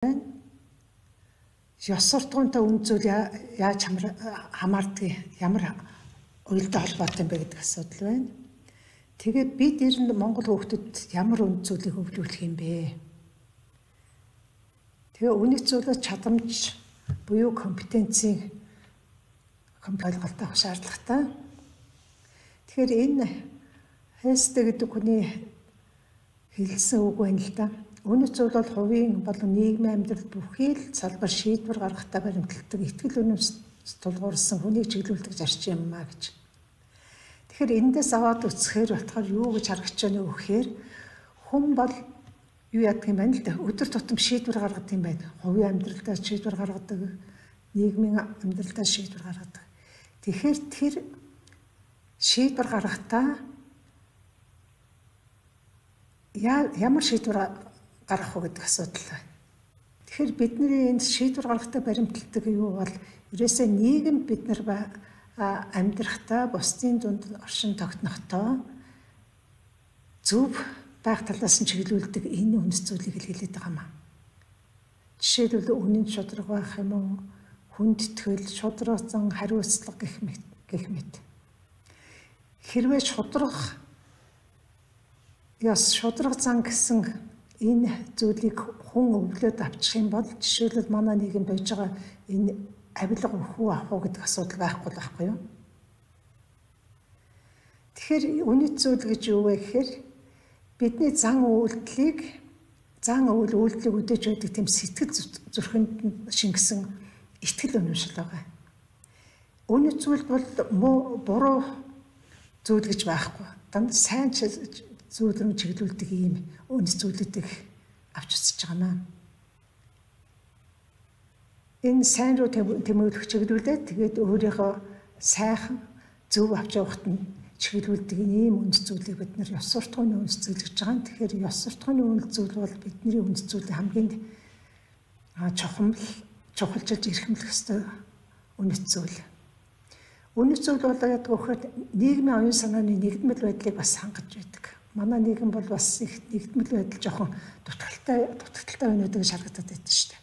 байна. Ёс суртахуунтай үнд зүйл яаж хамаардаг, ямар уялдаа холбоотой юм бэ гэдэг асуудал байна. Тэгээд бид ер нь Монгол хүүхдэд ямар үнд зүйлийг өвлүүлэх юм бэ? Тэгээ үнэт зүйлс чадамж буюу компетенцийн ойлголттой авах шаардлагатай. Тэгэхээр энэ Хестэй гэдэг хүний хэлсэн үг байна л да. Үнэт зүйл бол хувийн болон нийгмийн амьдралд бүхий л салбар шийдвэр гаргахтаа баримталдаг итгэл үнэмс тулгуурсан хүнийг чиглүүлдэг зарчим юм а гэж. Тэгэхээр эндээс аваад үзэхээр болохоор юу гэж харагч байна вэ гэхээр хүн бол юу яадаг юм байна л да. Өдөр тутам шийдвэр гаргадаг юм байна. Хувийн амьдралдаа шийдвэр гаргадаг, нийгмийн амьдралдаа шийдвэр гаргадаг. Тэгэхээр тэр шийдвэр гаргахдаа ямар шийдвэр гаргах уу гэдэг асуудал байна. Тэгэхээр бидний энэ шийдвэр гаргахдаа баримталдаг юу бол ерөөсөө нийгэм бид нар амьдрахдаа бусдын дунд оршин тогтнохдоо зөв байх талаас нь чиглүүлдэг энэ үнэт зүйлийг хэлээд байгаа юм аа. Жишээлбэл үнэн шударга байх юм уу, хүндэтгэл, шударгацсан хариуцлага гэх мэт. Хэрвээ шударга зан гэсэн энэ зүйлийг хүн өвлөөд авчих юм бол жишээлбэл манай нийгэм байж байгаа энэ авилга өхөө авах уу гэдэг асуудал байхгүй юу? Тэгэхээр үнэт зүйл гэж юу вэ гэхээр бидний зан үйлдэлийг өдөөж өгдөг тийм сэтгэл зүрхэнд шингэсэн итгэл үнэмшил байгаа. Үнэт зүйл бол муу буруу зүйл гэж байхгүй. Дандаа сайн зүйл рүү чиглүүлдэг ийм үнэт зүйлүүдийг авч үзэж байгаа наа. Энэ сайн руу тэмүүлэх чиглүүлээд тэгээд өөрийнхөө сайхан зөв авч явахад нь чиглүүлдэг ийм үнэт зүйлийг бид нар ёс суртахууны үнэт зүйл гэж байгаа. Тэгэхээр ёс суртахууны үнэт зүйл бол бидний үнэт зүйлийн хамгийн чухалчилж эрхэмлэх ёстой үнэт зүйл. Үнэт зүйл бол яадаг вөхөд нийгмийн оюун санааны нэгдмэл байдлыг бас хангаж байдаг. Манай нийгэм бол бас их нэгдмэл байдал жоохон дутагдaltaй байна гэдэг шаардлага байдаг шүү дээ.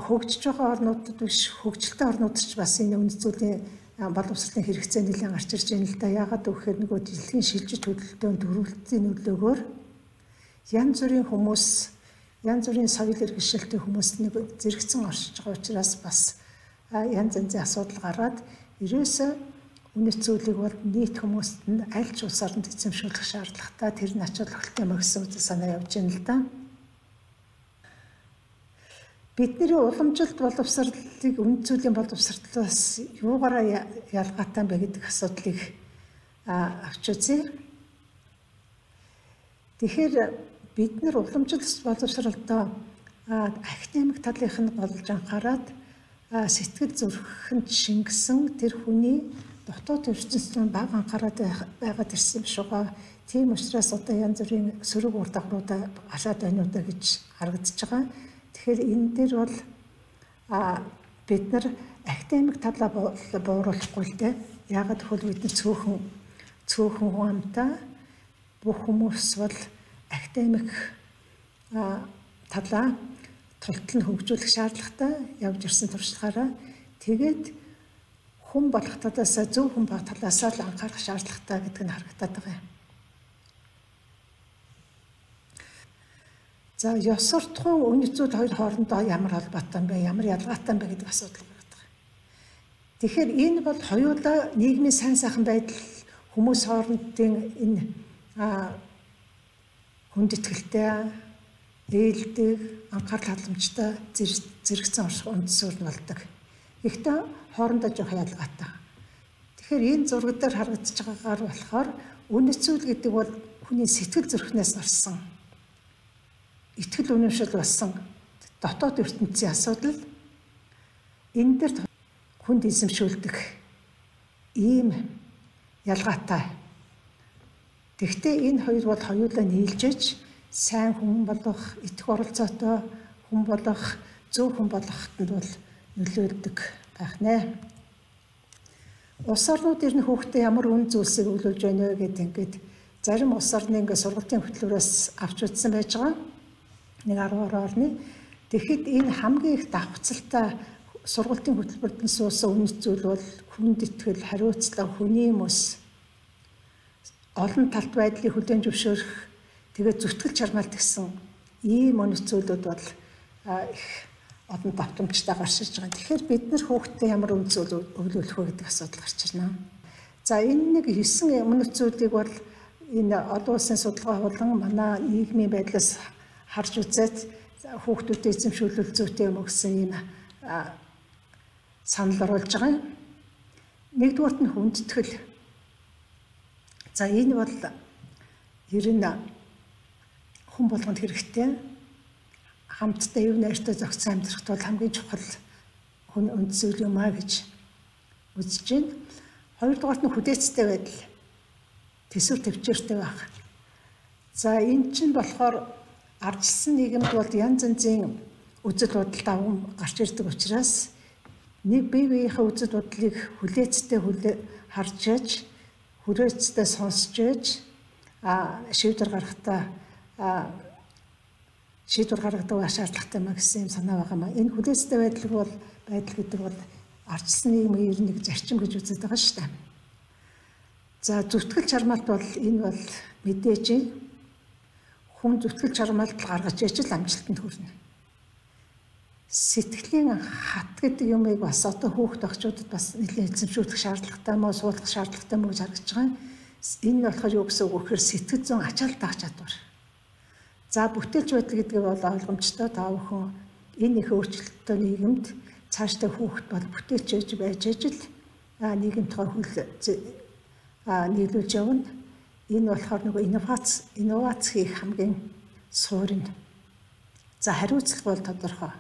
Хөгжиж байгаа орнуудад биш, хөгжилтэй орнуудад ч бас энэ үнэт зүйлийн боловсролын хэрэгцээ нэлээд гарч ирж байна л да. Яагаад гэвэл нөгөө дэлхийн шилжиж хөдөлтөнд дөрвөлтийн нөлөөгөөр янз бүрийн хүмүүс, янз бүрийн соёл иргэншилтийн хүмүүс нэг зэрэгцэн оршиж байгаа учраас бас янз янзын асуудал гараад ерөөсөө үнэт зүйлийг бол нийт хүмүүст нь аль ч улс орнд эзэмшүүлэх шаардлагатай тэр нь ач холбогдолтой мөрсөн үзэл санаа явж байна л да. Бидний уламжилт боловсролыг үнэт зүйлийн боловсролоос юугаараа ялгаатай бэ гэдэг асуудлыг авч үзье. Тэгэхээр бид нар уламжилт боловсролдоо академик талынх нь болж анхаарад сэтгэл зүрхэнд шингэсэн тэр хүний дотоод ертөнцийн бага анхаарат байгаад ирсэн юм шиг байгаа. Тийм учраас одоо янз бүрийн сөрөг ур дагавруудаа гашаад байна уу гэж харагдаж байгаа. Тэгэхээр энэ дээр бол бид нар академик талаа бууруулахгүй л дээ. Яагаад гэвэл бид нар цөөхөн амтаа бүх хүмүүс бол академик талаа тултал нь хөгжүүлэх шаардлагатай явж ирсэн туршлагаараа тэгээд хүн болох талаасаа зөв хүн байх талаасаа л анхаарах шаардлагатай гэдэг нь харагдаад байгаа юм. За ёс суртахуун үнэт зүйл хоёр хоорондоо ямар холбоотой юм бэ? Ямар ялгаатай юм бэ гэдэг асуудал гараад байгаа. Тэгэхээр энэ бол хоёулаа нийгмийн сайн сайхан байдал хүмүүс хоорондын энэ хүндэтгэлтэй, ээлдэг, анхаарал хандламжтай зэрэгцэн үндсээр нь болдог. Гэхдээ хоорондоо жоох ялгаатай. Тэгэхээр энэ зураг дээр харагдаж байгаагаар болохоор үнэт зүйл гэдэг бол хүний сэтгэл зүрхнээс орсон итгэл үнэмшил болсон дотоод ертөнцийн асуудал энэ дээр хүнд эзэмшүүлдэг ийм ялгаатай. Тэгвэл энэ хоёр бол хоёулаа нийлжэж сайн хүн болох, итгэх оролцоотой хүн болох, зөв хүн болоход бол нөлөөлдөг байх нэ. Улс орнууд ирнэ хүүхдээ ямар үн зүйлсийг өвлүүлж байна вэ гэдэг ингээд зарим улс орны ингээд сургалтын хөтөлбөрөөс авч үзсэн байж байгаа. нэг 10 орны. Тэгэхэд энэ хамгийн их давхцалтай сургалтын хөтөлбөрт суусан үнэт зүйл бол хүнд итгэл, хариуцлага, хүний мөс, олон талт байдлыг хүлээн зөвшөөрөх, тэгээд зүтгэл чармаалт гэсэн ийм үнэт зүйлүүд бол их олон давтамжтай гарч ирж байгаа. Тэгэхээр бид нар хүүхдэд ямар үнэт зүйл өвлүүлэх вэ гэдэг асуудал гарч ирнэ. За энэ нэг 9 үнэт зүйлийг бол энэ олон улсын судалгаа болон манай нийгмийн байдлаас харж үзээд хүүхдүүдэд эзэмшүүлэл зүйтэй юм гэсэн ийм санал оруулж байгаа. Нэгдүгээрт нь хүндэтгэл. За энэ бол ер нь хүн болгонд хэрэгтэй. Хамтдаа өв найртай зохицон амьдрахт бол хамгийн чухал хүн үнд зүйл юм а гэж үзэж байна. Хоёрдугаарт нь хүлээцтэй байдал. Төсөв төвчээртэй байх. За энэ чинь болохоор ардчилсан нийгэмд бол янз янзын үзэл бодол даван гарч ирдэг учраас нэг бие биеийнхээ үзэл бодлыг хүлээцтэй харж яаж, хүрээцтэй сонсч яаж шийдвэр гаргадаг шаардлагатай маа гэсэн юм санаа байгаа маа. Энэ хүлээцтэй байдал гэдэг бол ардчилсан нийгмийн ер нь нэг зарчим гэж үздэг байгаа шүү дээ. За зүтгэл чармаалт бол энэ бол мэдээж хүн зүтгэл чармаалт гаргаж ижил амжилтанд хүрнэ. Сэтгэлийн хат гэдэг юмыг бас одоо хүүхд багчуудад бас нэлээд эзэмшүүлэх шаардлагатай мó суулгах шаардлагатай мó гэж харагдаж байгаа. Энэ нь болохоор юу гэсэн үг вэ гэхээр сэтгэл зүйн ачаал даах чадвар. За бүтээлч байдал гэдэг нь бол ойлгомжтой та бүхэн энэ их өөрчлөлттэй нийгэмд цаашдаа хүүхд бол бүтээлч байж ижил нийгэмдээ нийлүүлж явна. Энэ болохоор нөгөө инновац хийх хамгийн суурь нь. За хариуцлага бол тодорхой.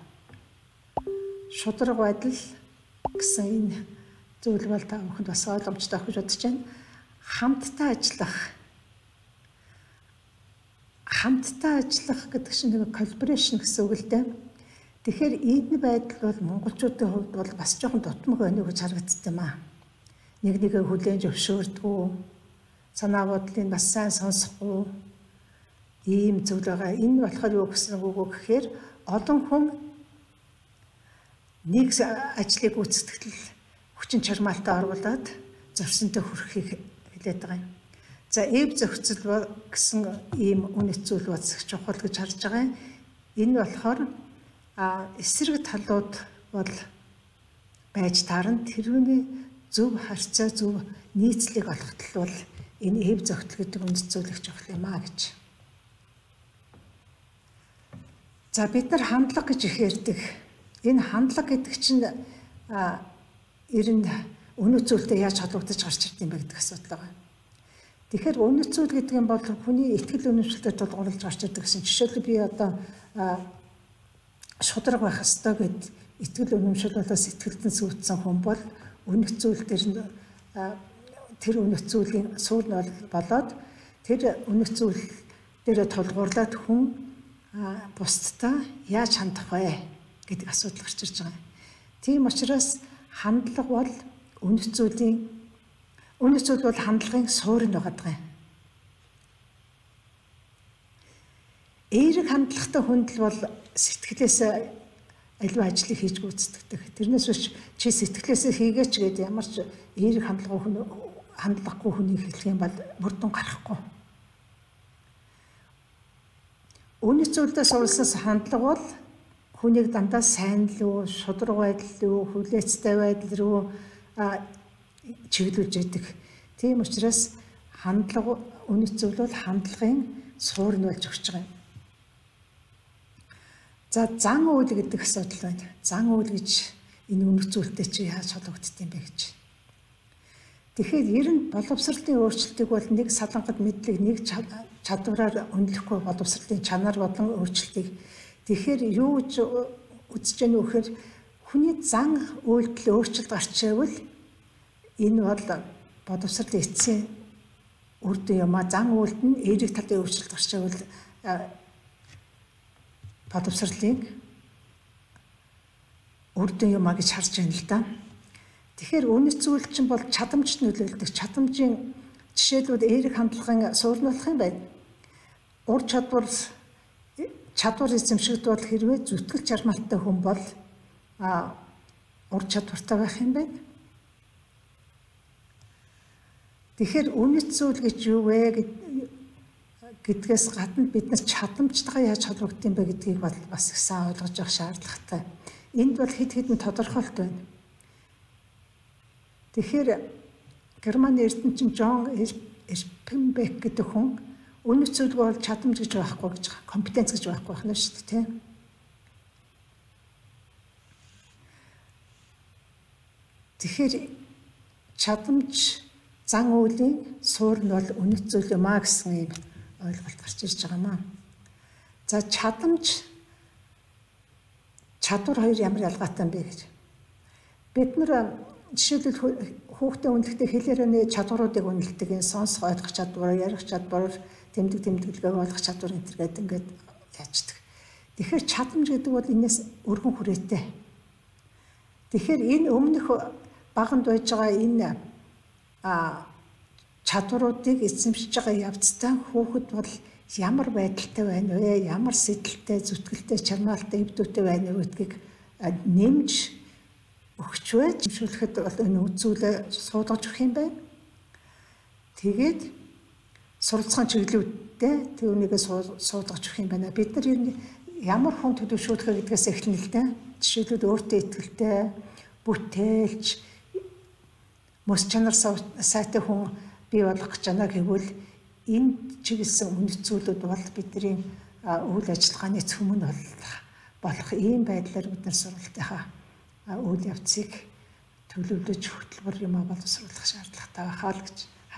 Шударга байдал гэсэн энэ зүйл бол та бүхэнд бас ойлгомжтой гэж бодож байна. Хамтдаа ажиллах гэдэг чинь нэг коллаборашн гэсэн үг л дээ. Тэгэхээр энэ байдал бол монголчуудын хувьд бол бас жоохон дутмаг байна гэж харагддаг юм аа. Нэг нэгээ хүлээн зөвшөөрдгөө, санаа бодлыг бас сайн сонсохгүй ийм зүйл байгаа. Энэ болохоор юу гэсэн үг вэ гэхээр олон хүн нэг ажлыг гүйцэтгэл хүчин чармаалтаа оруулаад зорьсонтой хүрэхийг хэлээд байгаа юм. За эв зохицол гэсэн ийм үнэт зүйл бас чухал гэж харж байгаа юм. Энэ болохоор эсрэг талууд бол байж таарна. Тэрүүний зөв харьцаа, зөв нийцлэг олоход бол энэ эв зохицол гэдэг үнэт зүйл их чухал юм а гэж. За бид нар хандлага гэж их ярьдаг. Энэ хандлага гэдэг чинь ер нь үнэт зүйлтэй яаж холбогдож гарч ирд юм бэ гэдэг асуудал байгаа. Тэгэхээр үнэт зүйл гэдэг нь бол хүний итгэл үнэмшилтэд тулгуурлаж гарч ирдэг гэсэн. Жишээлбэл би одоо шударга байх ёстой гэд итгэл үнэмшил болоо сэтгэлдэн сүйтгэсэн хүн бол үнэт зүйл дээр тэр үнэт зүйлийн суурь нь болоод тэр үнэт зүйл дээр тулгуурлаад хүн бусдтай яаж хандах вэ гэдэг асуудал гарч ирж байгаа. Тийм учраас хандлага бол үнэт зүйл бол хандлагын суурь нь байгаа юм. Эерэг хандлагатай хүнд бол сэтгэлээс аливаа ажлыг хийж гүйцэтгэдэг. Тэрнээс биш чи сэтгэлээсээ хийгээч гэдэг ямар ч эерэг хандлагагүй хүний хэлэх юм бол бүрдэн гарахгүй. Үнэт зүйлдээ суралцсан хандлага бол хүнийг дандаа сайн лөө, шударга байдал руу, хүлээцтэй байдал руу чиглүүлж яадаг. Тийм учраас хандлага үнэт зүйл бол хандлагын суурь нь болж өгч байгаа юм. За зан үйл гэдэг асуудал байна. Зан үйл гэж энэ үнэт зүйлтэй чи яаж холбогддог юм бэ гэж. Тэгэхээр ер нь боловсролын өөрчлөлтийг бол нэг салангад мэдлэг, нэг чадвараар үнэлэхгүй боловсролын чанар болон өөрчлөлтийг. Тэгэхээр юу гэж үзэж яах вэ гэхээр хүний зан үйлдэл өөрчлөлт гарч ивэл энэ бол боловсролын эцсийн үр дүн юм а. Зан үйлд нь эерэг талын өөрчлөлт гарч ивэл боловсролын үр дүн юм а гэж харж байна л да. Тэгэхээр үнэт зүйл чинь бол чадамжт нөлөөлдөг. Чадамжийн жишээлбэл эерэг хандлагын суурь болох юм байна. Ур чадвар чадвар эзэмшигдвэл хэрвээ зүтгэл чармаалтай хүн бол ур чадвартай байх юм байна. Тэгэхээр үнэт зүйл гэж юу вэ гэдгээс гадна бид нар чадамжтайгаа яаж холбогдсон бэ гэдгийг бас их сайн ойлгож явах шаардлагатай. Энд бол хэд хэдэн тодорхойлт байна. Тэгэхээр Германы эрдэмчин Жон Эрпенбек гэдэг хүн үнэт зүйл бол чадамж гэж байхгүй гэж байгаа. Компетенц гэж байхгүй байна шүү дээ, тийм. Тэгэхээр чадамж зан үйлийн суурь нь бол үнэт зүйл юм аа гэсэн юм ойлголт гарч ирж байгаа маа. За чадамж чадвар хоёр ямар ялгаатай юм бэ гэж. Бид нар жишээлбэл хүүхдээ үнэлэхдээ хэлээрээ чадваруудыг үнэлдэг, энэ сонсох ойлгох чадвар, ярих чадвар, тэмдэглэгээ ойлгох чадвар гэдэг ингээд яаждаг. Тэгэхээр чадамж гэдэг бол энэс өргөн хүрээтэй. Тэгэхээр энэ өмнөх баганд байж байгаа энэ чадваруудыг эзэмшиж байгаа явцдаа хүүхэд бол ямар байдалтай байна вэ? Ямар сэдэлтэй, зүтгэлтэй, чармаалтай, эвдүүтэй байна вэ гэдгийг нэмж өгч байж шүүлэхэд бол энэ үзүүлээ суулгаж өгөх юм байна. Тэгээд суралцсан чиглэлүүдтэй түүнийгээ суулгаж өгөх юм байна. Бид нар ямар хүн төлөвшүүлэх гэдгээс эхэлнэ л дээ. Жишээлбэл өөртөө итгэлтэй, бүтээлч, мөс чанар сайтай хүн бий болгох гэж байна гэвэл энд чиглэсэн үнэт зүйлүүд бол бидний үйл ажиллагааны цөмөн болох ийм байдлаар бид нар сургалтынхаа үйл явцыг төлөвлөж хөтөлбөр юм боловсруулах шаардлагатай байхаа л гэж